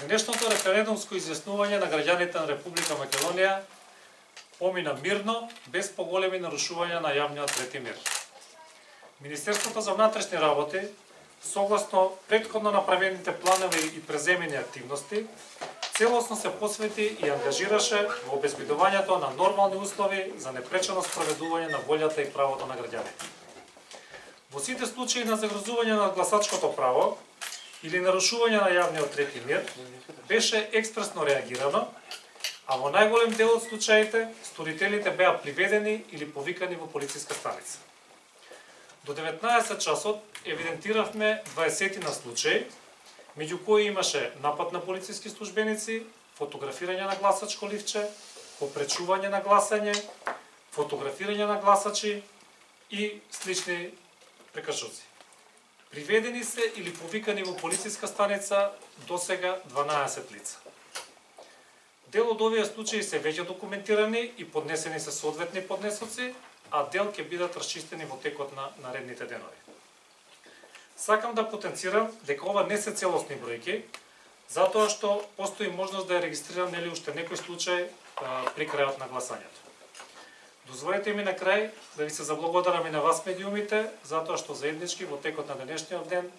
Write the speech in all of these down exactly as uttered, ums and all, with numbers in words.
Денешното референдумско изјаснување на граѓаните на Република Македонија помина мирно, без поголеми нарушувања на јавниот ред и мир. Министерството за внатрешни работи, согласно претходно направените планови и преземени активности, целосно се посвети и ангажираше во обезбедувањето на нормални услови за непречено спроведување на волјата и правото на граѓаните. Во сите случаи на загрозување на гласачкото право или нарушување на јавниот ред и мир, беше експресно реагирано, а во најголем дел од случаите сторителите беа приведени или повикани во полициска станица. До деветнаесет часот евидентиравме дваесет на случаи, меѓу кои имаше напад на полициски службеници, фотографирање на гласачко ливче, попречување на гласање, фотографирање на гласачи и слични прекршоци. Приведени се или повикани во полициска станица досега дванаесет лица. Дел од овие случаи се веќе документирани и поднесени се соодветни поднесоци, а дел ќе бидат расчистени во текот на наредните денови. Сакам да потенцирам дека ова не се целосни бројки, затоа што постои можност да ја регистрирам нели уште некој случај а, при крајот на гласањето. Дозволете ми на крај да ви се заблагодарам и на вас медиумите, затоа што заеднички во текот на денешниот ден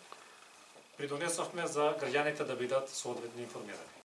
придонесовме за граѓаните да бидат соодветно информирани.